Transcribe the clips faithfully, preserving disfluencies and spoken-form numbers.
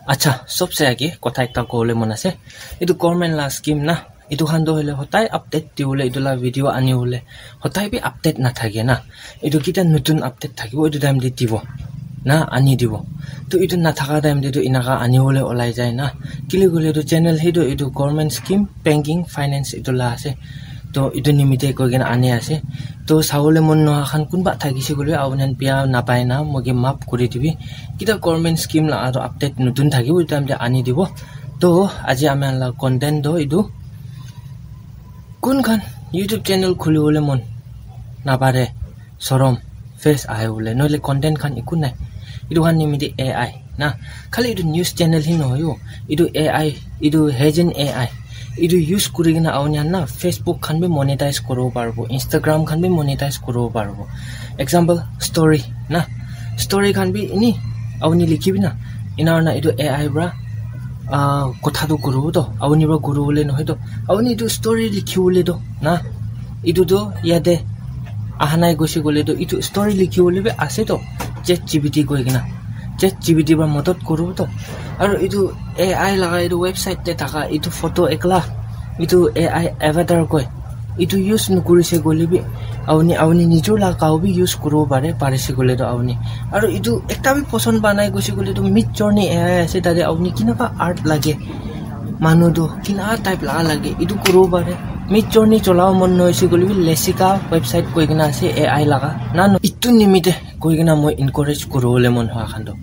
Acha, sobse age kotha ekta kobole mon ase. Etu government la scheme na, etu khan toh hoile hotai update diwole, etu la video aniwole hotai bi update nathake na. Etu kita notun update thakibo, etu time te dibo na, ani dibo. To etu nathaka time te toh enaka aniwole olai jai na. Kile koile etu channel he toh etu government scheme, banking, finance etu la ase. To etu nimite koi kena ani ase. To sawole mon noha khan kunba thakise koile apni khan bia napai na moike maaf kuri dibi. Kita government scheme la aro update notun thakibo, etu time te ani dibo. To aji ami khan la content toh etu, kun khan YouTube channel khulibole mon napare, sorom, face ahibole, nohole content khan eku nai. Etu khan nimite A I na, khali etu news channel hi nohoi o, etu A I, etu Heijin A I, etu use kuri kena apni khan na Facebook khan bi monetize kuribo paribo, Instagram khan bi monetize kuribo paribo. Example, story na, story khan bi ini apni likhibi na, ena na etu A I pra ah, kotha toh kuribo toh, apni pra kuribole nohoi toh, apni etu story likhibole toh na, etu toh yate aha nai gosi koile toh, etu story likhibole bi ase toh, Chat G P T koi kena, Chat G P T pra madad kuribo toh. Aro etu A I laga etu website te thaka etu photo ekla, etu A I avatar koi, etu use nokurise koile bi, apni, apni nijor la gao bi use kuribo pare, parise koile toh apni. Aro etu ekta bi poson pa nai gosi koile toh, Midjourney A I ase, tate apni kinaka art lage, manu toh kinaka type laga lage, etu kuribo pare. Midjourney cholabo mon nohoise koile bi, Lessica website koi kena ase A I laga. Na, no, etu nimite koi kena moi encourage kuribole mon hwa khan toh,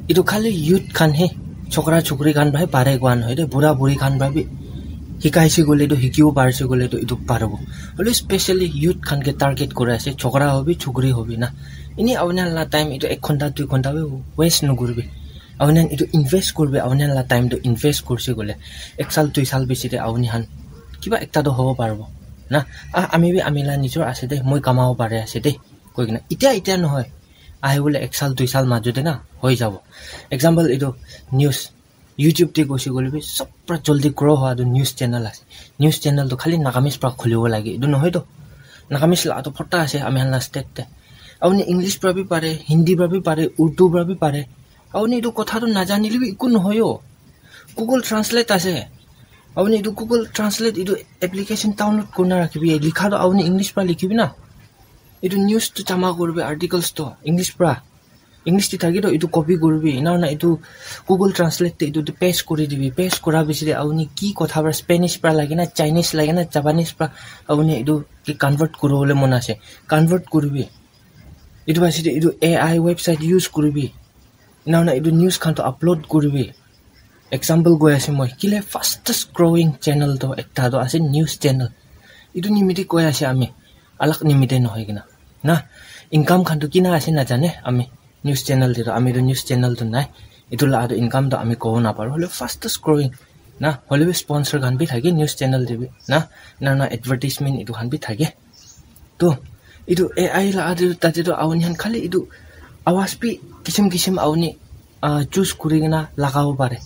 etu khali youth khan he, chokra chokri khan pra he pare koa nohoi de, bura buri khan pra bi hikaise koile toh, hikibo parise koile toh etu paribo. Hoile specially youth khan ke target kuri ase, chokra hobi, chokri hobi na. Ini apni khan la time etu ek ghonta, dui ghonta bi waste nokuribi. Apni khan etu invest kuribi, apni khan la time toh invest kurise koile, ek sal, dui sal piche te apni khan kiba ekta toh hobo paribo na. Ah, ami bi ami la nijor ase de, moi kamabo pare ase de, koi kena. Itia, itia nohoi, ahibole ek sal, dui sal majo te na hoi jabo. Example, etu news, YouTube te gosi koile bi sob pra joldi grow hwa toh news channel ase. News channel toh khali Nagamese pra khulibo lage, etu nohoi toh. Nagamese la toh phota ase ami khan la state te. Apni English pra bi pare, Hindi pra bi pare, Urdu pra bi pare. Apni etu kotha toh najanile bi eku nohoi o. Google Translate ase. Apni etu Google Translate etu application download kurina rakhibi. Likha toh apni English pra likhibi na. Etu news toh jama kuribi, articles toh English pra. English te thaki toh etu copy kuribi, ena hoina etu Google Translate te etu te paste kuri dibi, paste kura piche te apni ki kotha pra, Spanish pra lage na, Chinese lage na, Japanese pra apni etu ke convert kuribole mon ase, convert kuribi. Etu piche te etu A I website use kuribi, ena hoina etu news khan toh upload kuribi. Example koi ase moi, kile fastest growing channel toh ekta toh ase news channel. Etu nimite koi ase ami, alag nimite nohoi kena na. Income khan toh kina ase najane ami, news channel te toh, ami toh news channel toh nai. Etu la toh income toh ami kobo naparo, hoile fastest growing na, hoile bi sponsor khan bi thake news channel te bi na, na, na advertisement etu khan bi thake. To etu A I la tate toh apni khan khali etu awaz bi kisim kisim apni, ah, choose kuri kena lagabo pare.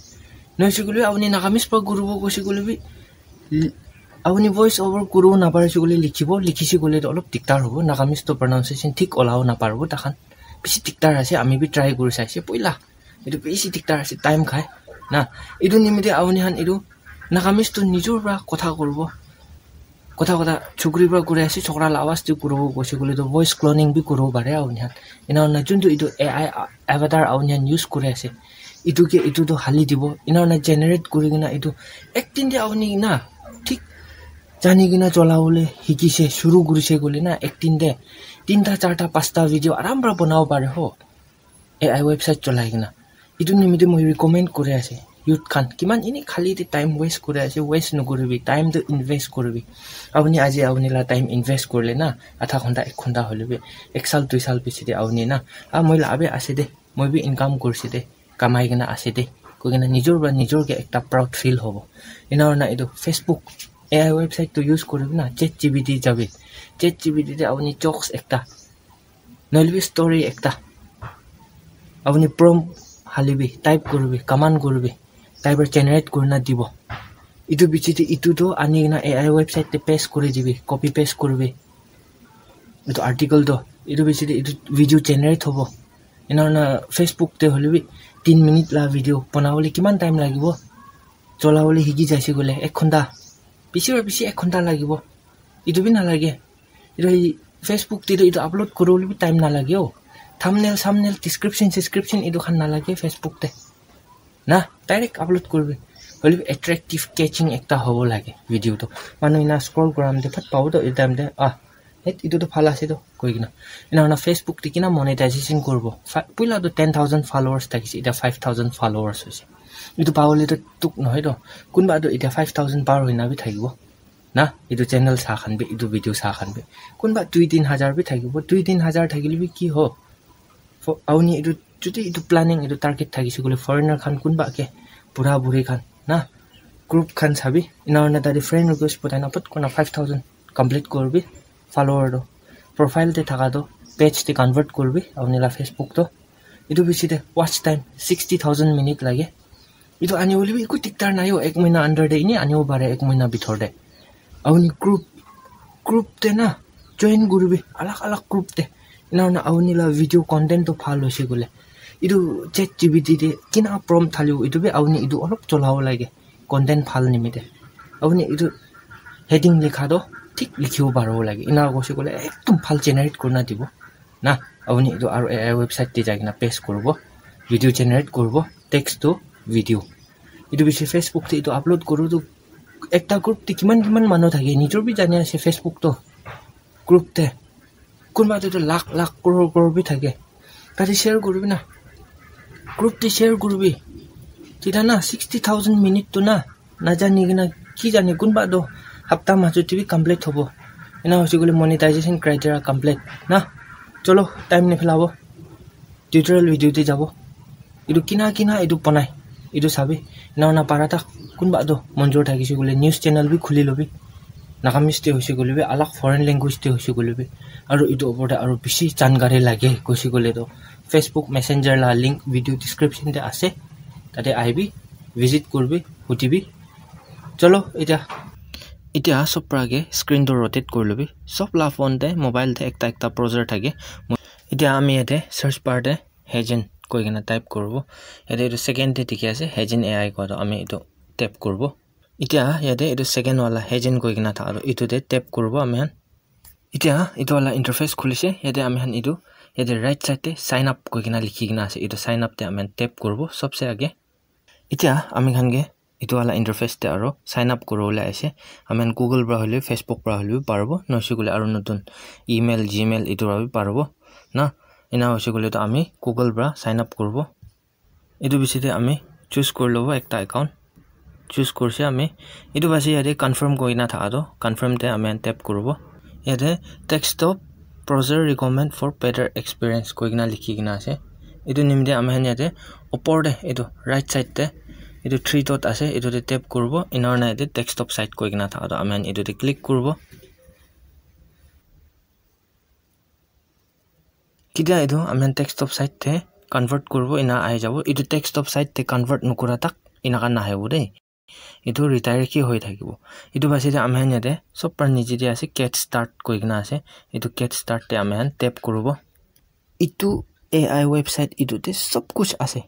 Nohoi se koile apni Nagamese pra kuribo gosi koile bi, li-, apni voice over kuribo napare se koile likhibo, likhise koile toh olop dikdar hobo. Nagamese toh pronunciation thik olabo naparibo takhan. Bishi dikdar ase, ami bi try kuri saise poila. Etu bishi dikdar ase, time khai na. Etu nimite apni khan etu Nagamese toh nijor pra kotha kuribo. Kotha kotha chukri pra kuri ase, chokra la awaz te kuribo gosi koile toh voice cloning bi kuribo pare apni khan. Ena hoina juntu etu A I avatar apni khan use kuri ase, etu ke etu toh hali dibo. Ena hoina generate kuri kena etu ek din te apni na thik jani kena cholabole hikise, shuru kurise koile na, ek din te tinta, charta, pasta video aram pra banabo pare ho. A I website cholai kena. Etu nimite moi recommend kuri ase. Youth khan, kiman eni khali te time waste kuri ase, waste nokuribi, time toh invest kuribi. Apni aji apni la time invest kurile na, adha ghonta, ek ghonta hoile bi, ek sal, dui sal piche te apni na, ah, moi la abi ase de, moi bi income kurise de, kamai kena ase de, koi kena nijor pra nijor ke ekta proud feel hobo. Ena hoina etu Facebook, A I website toh use kuribi na, Chat G P T jabi. Chat G P T te apni jokes ekta, nohole bi story ekta, apni prompt halibi, type kuribi, command kuribi, tai para generate kurina dibo. Etu piche te etu toh ani kena A I website te paste kuri dibi, copy paste kuribi. Etu article toh, etu piche te etu video generate hobo. Ena hoina Facebook te hoile bi tin minute la video banabole kiman time lagibo? Cholabole hiki jaise koile ek ghonta, bishi para bishi ek ghonta lagibo. Etu bi nalage. Etu hi Facebook te toh etu upload kuribole bi time nalage o. Thumbnail, thumbnail, description, description etu khan nalage Facebook te. Na, direct upload kuribi. Hoilebi attractive, catching ekta hobo lage video toh. Manu ena scroll kuram te phat pabo toh, etu time te, ah, het etu toh bhal ase toh, koi kena. Ena hoina Facebook te kina monetization kuribo. Fa-, puila toh ten thousand followers thakise, eta five thousand followers hoise. Etu pabole toh tuk nohoi toh. Kunba toh eta five thousand par hoina bi thakibo. Na, etu channel sa khan bi, etu video sa khan bi. Kunba dui tin hajar bi thakibo. Dui tin hajar thakile bi ki ho? Fo-, auni etu, jodi etu planning, etu target thakise koile foreigner khan kunba ke, bura buri khan, na, group khan sabi, ena hoina tate friend request pathai na, pat kona five thousand complete kuribi, follower toh, profile te thaka toh, page te convert kuribi, auni la Facebook toh. Etu bishi te watch time sixty thousand minute lage. Etu ani bole bi eku dikdar nai o, ek mahina under te eni anibo pare, ek mahina bithor te. Auni group, group te na join kuribi, alag alag group te. Ena hoina auni la video content toh bhal hoise koile, etu ChatGPT te kina prompt thalibo, etu bi auni etu olop cholabo lage, content bhal nimite. Auni etu heading likha toh thik likhibo paribo lage. Ena hoise koile ekdum bhal generate kurina dibo. Na, auni etu aru A I website te jai kena paste kuribo, video generate kuribo, text to video. Etu bishi Facebook te etu upload kuru tu ekta group te kiman kiman manu thake, nijor bi jani ase Facebook to. Group te kunba te toh lakh lakh, crore crore bi thake. Tate share kuribi na. Group te share kuribi. Tita na sixty thousand minute tu na, najani kena, ki jane, kunba toh hapta majot te bi complete hobo. Ena hoise koile monetization criteria complete na. Cholo, time niphelabo. Tutorial video te jabo. Etu kina kina etu banai, etu sabi. Ena hoina para tak kunba toh monjor thakise koile news channel bi khuli lobi. Nagamese te hoise koile bi, alag foreign language te hoise koile bi. Aru etu opor te aru bishi jankari lage koise koile toh Facebook Messenger la link video description te ase. Tate ahibi, visit kuribi, hudibi. Cholo, etia, etia sob para ke screen toh rotate kuri lobi. Sob la phone te, mobile te ekta ekta browser thake. Etia ami yate search bar te Heijin koi kena type kuribo. Yate etu second te dikhi ase, Heijin A I koa toh ami etu tap kuribo. Etia yate etu second wala Heijin koi kena thaka toh etu te tap kuribo ami khan. Etia etu wala interface khulise, yate ami khan etu, yate right side te sign up koi kena likhi kena ase, etu sign up te ami khan tap kuribo sobse age. Etia ami khan ke etu wala interface te aro sign up kuribole ase. Ami khan Google para hoile, Facebook para hoile bi paribo, nohoise koile aro notun email, Gmail etu para bi paribo na. Ena hoise koile toh ami Google para sign up kuribo. Etu bishi te ami choose kuri lobo ekta account. Choose kurise ami. Etu bishi yate confirm koi kena thaka toh, confirm te ami khan tap kuribo. Yate desktop browser recommend for better experience koi kena likhi kena ase. Etu nimite ami khan yate opor te etu right side te etu three dot ase, etu te tap kuribo. Ena hoina yate desktop site koi kena thaka toh ami khan etu te click kuribo. Ketia etu ami khan desktop site te convert kuribo, ena ahi jabo. Etu desktop site te convert nokura tak enaka nahibo de. Etu redirect he hoi thakibo. Etu bishi te ami khan yate sob para niche te ase, get start koi kena ase. Etu get start te ami khan tap kuribo. Etu A I website etu te sob kuch ase.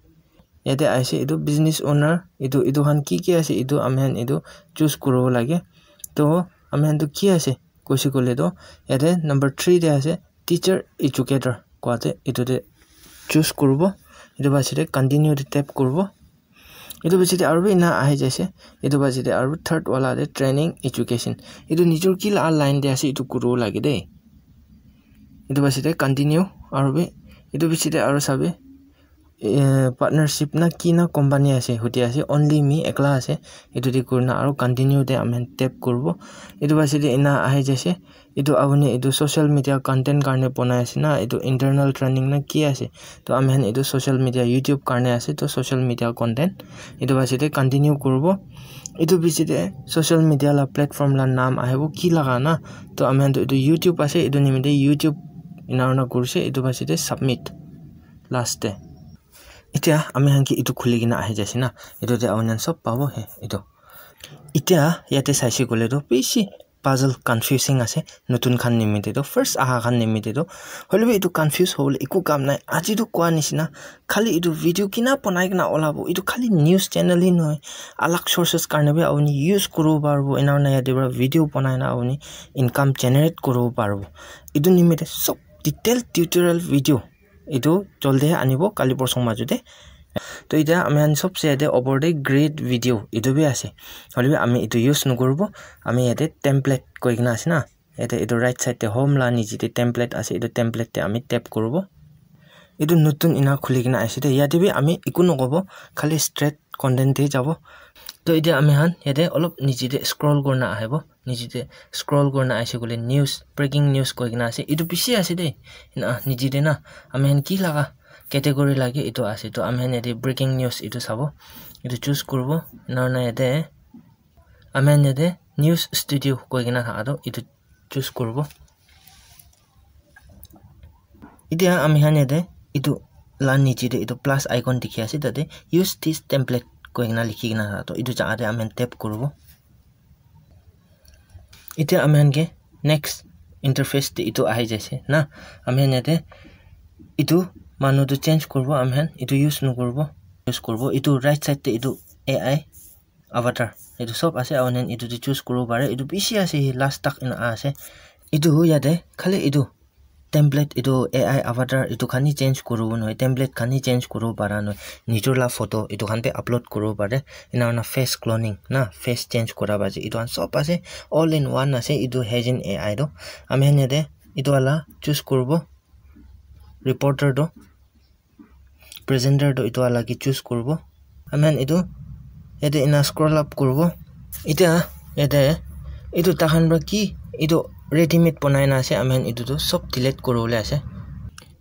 Yate aise etu business owner, etu, etu khan ki ki ase, etu ami khan etu choose kuribo lage. To ami khan tu ki ase koise koile toh, yate number three te ase, teacher educator koa te, etu te choose kuribo. Etu bishi te continue te tap kuribo. Etu bishi te aru bi ena ahi jaise. Etu bishi te aru third wala te training education. Etu nijor ki la line te ase, etu kuribo lage de. Etu bishi te continue aru bi, etu bishi te aru sabi, eh, partnership na ki na company ase, huti ase, only me ekla ase, etu te kurina aru continue te ami khan tap kuribo. Etu bishi te ena ahi jaise, etu apuni etu social media content karne bonai ase na, etu internal training na ki ase, to ami khan etu social media YouTube karne ase, to social media content etu bishi te continue kuribo. Etu bishi te social media la platform la naam ahibo ki laga na, to ami khan to etu YouTube ase, etu nimite YouTube ena hoina kurise, etu bishi te submit last te. Etia ami khan ke etu khuli kena ahi jaise na, etu te apuni khan sob pabo he etu. Etia yate saise koile toh bishi puzzle confusing ase, notun khan nimite toh, first aha khan nimite toh. Hoilebi etu confuse hobole eku kam nai. Aji toh koa nishina, khali etu video kina banai kena olabo, etu khali news channel hi nohoi, alag sources karne bi apuni use kuribo paribo. Ena hoina yate para video banai na apuni income generate kuribo paribo. Etu nimite sob detail tutorial video etu jaldi he anibo, kali porsong majo te. To itya ami khan sobse yate opor te create video etu bi ase, hoilebi ami etu use nokuribo. Ami yate template koi kena ase na, yate etu right side te home la niche te template ase, etu template te ami tap kuribo. Etu notun ena khuli kena ase de, yate bi ami eku nokobo, khali straight content te jabo. To itya ami khan yate olop niche te scroll kurina ahibo, niche te scroll kurina ahise koile news, breaking news koi kena ase, etu bishi ase de. Ena niche te na ami khan ki laga category lage etu ase, to ami khan yate breaking news etu sabo, etu choose kuribo. Ena hoina yate ami khan yate news studio koi kena thaka toh etu choose kuribo. Itya ami khan yate etu la niche te etu plus icon dikhi ase, tate use this template koi kena likhi kena thaka toh etu jaga te ami khan tap kuribo. Itya ami khan ke next interface te etu ahi jaise na, ami khan yate etu manu tu change kuribo, ami khan etu use nokuribo, use kuribo. Etu right side te etu A I avatar etu sob ase, aru etu te choose kuribo pare, etu bishi ase, last tak ena ase. Etu yate khali etu template, etu A I avatar etu khan hi change kuribo nohoi, template khan hi change kuribo para nohoi, nijor la photo etu khan bi upload kuribo pare. Ena hoina face cloning na, face change kura ba ase, etu khan sob ase, all in one ase. Etu Heygen A I toh ami khan yate etu wala choose kuribo, reporter toh, presenter toh etu wala ke choose kuribo. Ami khan etu yate ena scroll up kuribo. Itya yate etu tahan para ki etu readymade banai na ase, ami khan etu toh sob delete kuribole ase.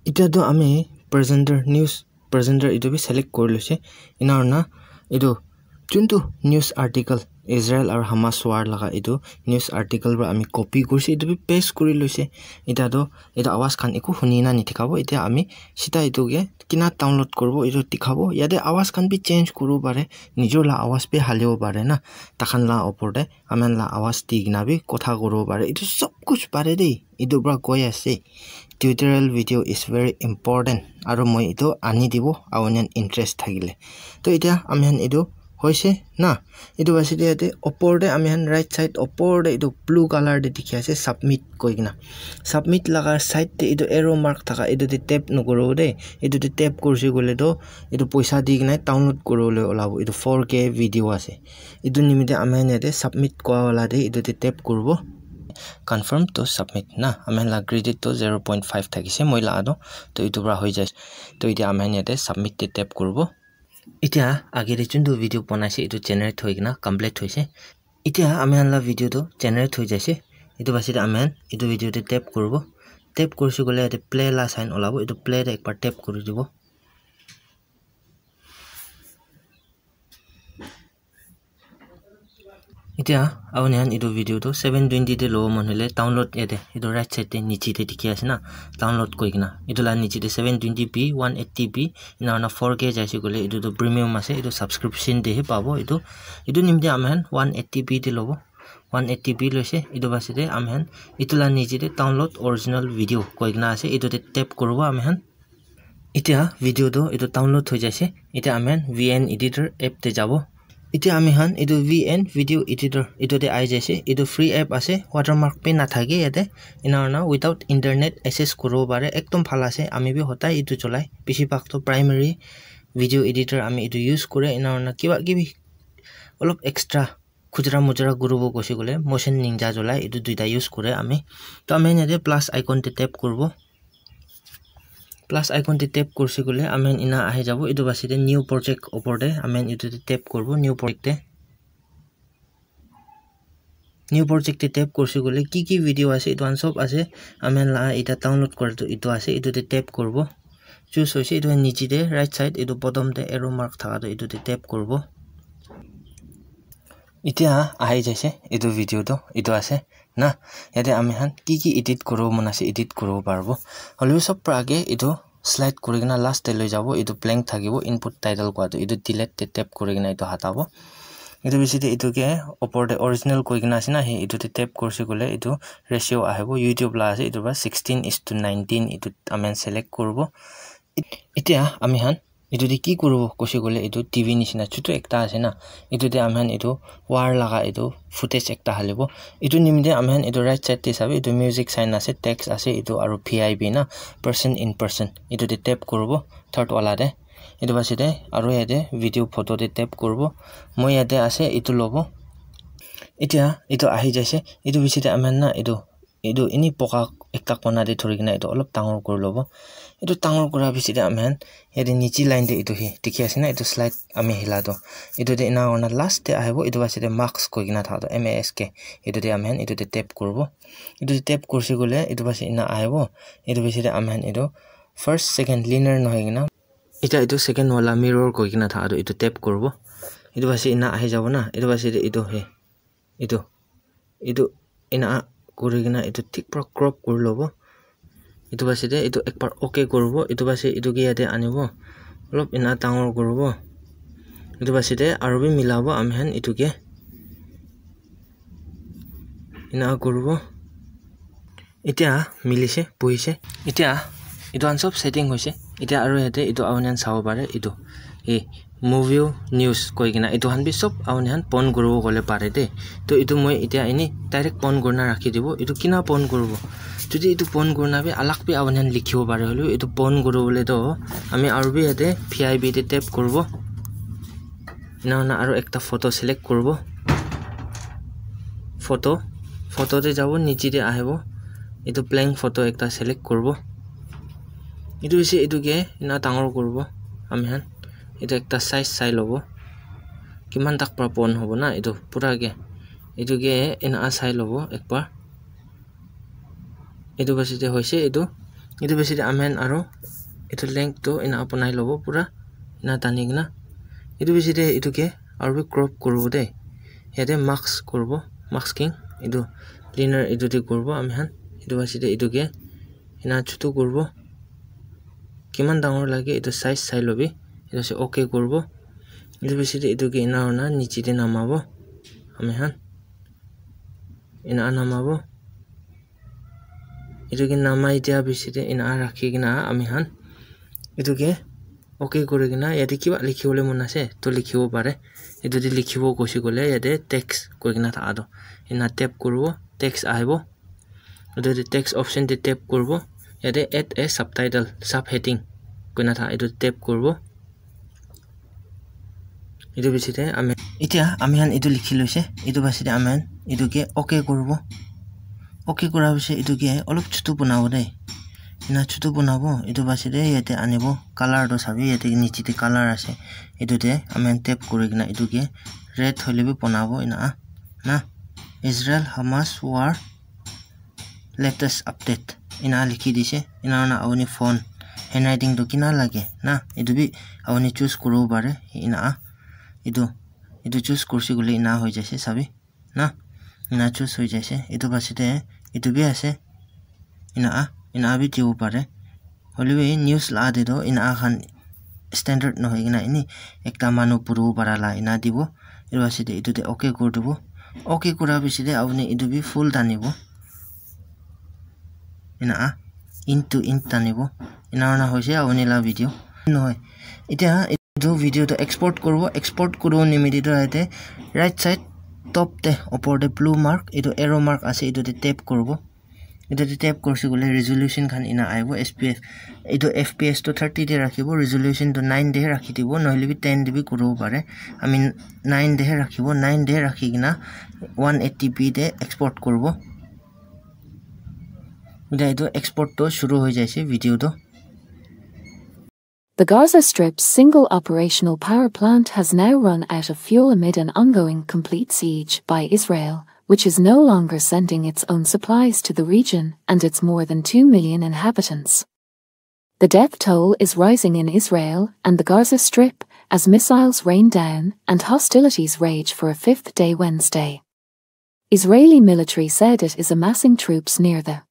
Itya toh ami presenter, news presenter etu bi select kuri loise. Ena hoina etu juntu news article, Israel aru Hamas war laga etu news article para ami copy kurise, etu bi paste kuri loise. Itya toh etu awaz khan eku huni na nithikabo. Itya ami sida etu ke kina download kuribo, etu dikhabo. Yate awaz khan bi change kuribo pare, nijor la awaz bi halibo pare na, takhan la opor te ami khan la awaz di kena bi kotha kuribo pare. Etu sob kuch pare de, etu para koi ase. Tutorial video is very important, aru moi etu ani dibo, aru onion interest thakile. To itya ami khan etu hoise na, etu ase de yate opor te ami khan right side opor te etu blue color te dikhi ase submit koi kena. Submit laga side te etu arrow mark thaka etu te tap nokuribo de. Etu te tap kurise koile toh etu poisa di kena download kuribole olabo. Etu four K video ase. Etu nimite ami khan yate submit kua wala te etu te tap kuribo. Confirm to submit na, ami khan la credit toh zero point five thakise moi la toh, to etu para hoi jai. To itya ami khan yate submit te tap kuribo. Itya age te juntu video banaise etu generate hoi kena complete hoise. Itya ami khan la video toh generate hoi jaise. Etu basi te ami khan etu video te tap kuribo. Tap kurise koile yate play la sign olabo, etu play te ekbar tap kuri dibo. Itya apuni khan etu video toh seven twenty te lobo mon hoile download yate etu right side te niche te dikhi ase na, download koi kena etu la niche te seven twenty P, one eighty P, ena hoina four K jaise koile etu toh premium ase, etu subscription te he pabo etu. Etu nimite ami khan one eighty P te lobo, one eighty P loise. Etu basi te ami khan etu la niche te download original video koi kena ase, etu te tap kuribo ami khan. Itya video toh etu download hoi jaise. Itya ami khan V N editor app te jabo. Itya ami khan etu V N video editor etu te ahi jaise. Etu free app ase, watermark bi nathake yate. Ena hoina without internet access kuribo pare, ekdom bhal ase. Ami bi hodai etu cholai, bishi bhag toh primary video editor ami etu use kure. Ena hoina kiba kibi olop extra khujra mujra kuribo koise koile Motion Ninja cholai, etu duita use kure ami. To ami khan yate plus icon te tap kuribo. Plus icon te tap kurise koile ami khan ena ahi jabo. Etu basi te new project opor te ami khan etu te tap kuribo, new project te. New project te tap kurise koile ki ki video ase etu khan sob ase. Ami khan la eta download kura toh etu ase, etu te tap kuribo. Choose hoise etu niche te right side etu bottom te arrow mark thaka toh etu te tap kuribo. Itya ahi jaise etu video toh etu ase na, yate ami khan ki ki edit kuribo mon ase edit kuribo paribo. Hoilebi sob para age etu slide kuri kena last te loi jabo, etu blank thakibo, input title kowa toh etu delete te tap kuri kena etu hatabo. Etu bishi te etu ke upor te original koi kena ase na, he etu te tap kurse koile etu ratio ahibo, YouTube la ase, etu para sixteen is to nineteen etu amen select kuribo. Et-, etia ami khan etu te ki kuribo koise koile etu T V nishina chutu ekta ase na, etu te ami khan etu war laga etu footage ekta halibo. Etu nimite ami khan etu right side te sabi etu music sign ase, text ase etu aru P I B na, person in person, etu te tap kuribo third wala te. Etu pasite aru yate video photo te tap kuribo. Moi yate ase, etu lobo. Etia etu ahi jaise. Etu bishi te ami khan na etu, etu ini poka ekta kona te thori kena etu olop dangor kuri lobo. Etu dangor kura bishi te ami khan yate niche line te etu he dikhi ase na, etu slide ami hila toh. Etu te ena hoina last te ahibo, etu pasite mask koi kena tha toh, M A S K. Etu te ami khan etu te tap kuribo. Etu te tap kurse koile etu pasite ena ahibo. Etu bishi te ami khan etu first, second, linear nohoi kena Etia etu second wala mirror koi kena tha toh etu tap kuribo. Etu pasite ena ahi jabo na. Etu pasite etu he. Etu. Etu ena kuri kena etu thik para crop kuri lobo. Etu pasite etu ek baar okay kuribo. Etu pasite etu ke yate anibo. Olop ena dangor kuribo. Etu pasite aru bi milabo ami khan etu ke. Ena kuribo. Etia milise, buhise. Etia etu khan sob setting hoise. Etia aru yate etu apuni khan sabo pare etu. Eh, movie news koi kena etu khan bi sob apuni khan pon kuribo koile pare de. To etu moi etia eni direct pon kurina rakhi dibo. Etu kina pon kuribo? Jodi etu pon kurina bi alag bi apuni khan likhibo pare hoile bi etu pon kuribole to ami aru bi yate P I B te tap kuribo. Ena hoina aru ekta photo select kuribo. Photo, photo te jabo, niche te ahibo. Etu blank photo ekta select kuribo. Etu hoise etu ke ena dangor kuribo ami khan. Etu ekta size sai lobo. Kiman tak para pon hobo na etu pura ke. Etu ke ena sai lobo ek baar. Etu pasite hoise etu. Etu pasite ami khan aru etu length tu ena banai lobo pura ena tani kena. Etu pasite etu ke aru bi crop kuribo de. Yate mask kuribo, masking. Etu linear etu te kuribo ami khan. Etu pasite etu ke ena chutu kuribo. Kiman dangor lage etu size sai lobi. Etu ase okay kuribo. Etu pasite etu ke ena hoina niche te namabo ami khan. Ena namabo. Etu ke namai dia bishi te ena rakhi kena ami khan etu ke okay kuri kena yate kiba likhi bole mon ase to likhibo pare. Etu te likhibo koise koile yate text koi kena tha toh ena tap kuribo, text ahibo. Etu te text option te tap kuribo. Yate add a subtitle, subheading koi kena tha etu tap kuribo. Etu bishi te ami, etia ami khan etu likhi loise. Etu pasite ami khan etu ke okay kuribo. Okay kura pasite etu ke olop chutu banabo de. Ena chutu banabo. Etu pasite yate anibo. Color to sabi yate niche te color ase. Etu te ami khan tap kuri kena etu ke red hoile bi banabo ena na. Israel Hamas war latest update ena likhi dise. Ena hoina apuni font handwriting tu kina lage na, etu bi apuni choose kuribo pare. Ena etu, etu choose kurse koile ena hoi jaise sabi na. Ena choose hoi jaise. Etu pasite etu bi ase. Ena, ena bi dibo pare. Hoile bi news la te toh ena khan standard nohoi kena eni ekta manu puribo para la ena dibo. Etu pasite etu te okay kuri dibo. Okay kura pasite apuni etu bi full tanibo. Ena int to int tanibo. Ena hoina hoise apuni la video. Nohoi. Etia etu video to export kuribo. Export kuribo nimite toh yate right side top te upor te blue mark, etu arrow mark ase, etu te tap kuribo. Etu te tap kurse koile resolution khan ena ahibo, S P F. Etu F P S to thirty te rakhibo, resolution to nine te he rakhi dibo, nohole bi ten te bi kuribo pare. I mean, nine te he rakhibo, nine te rakhi kena one eighty P te export kuribo. Etia etu export to shuru hoi jaise video to. The Gaza Strip's single operational power plant has now run out of fuel amid an ongoing complete siege by Israel, which is no longer sending its own supplies to the region and its more than two million inhabitants. The death toll is rising in Israel and the Gaza Strip as missiles rain down and hostilities rage for a fifth day Wednesday. Israeli military said it is amassing troops near the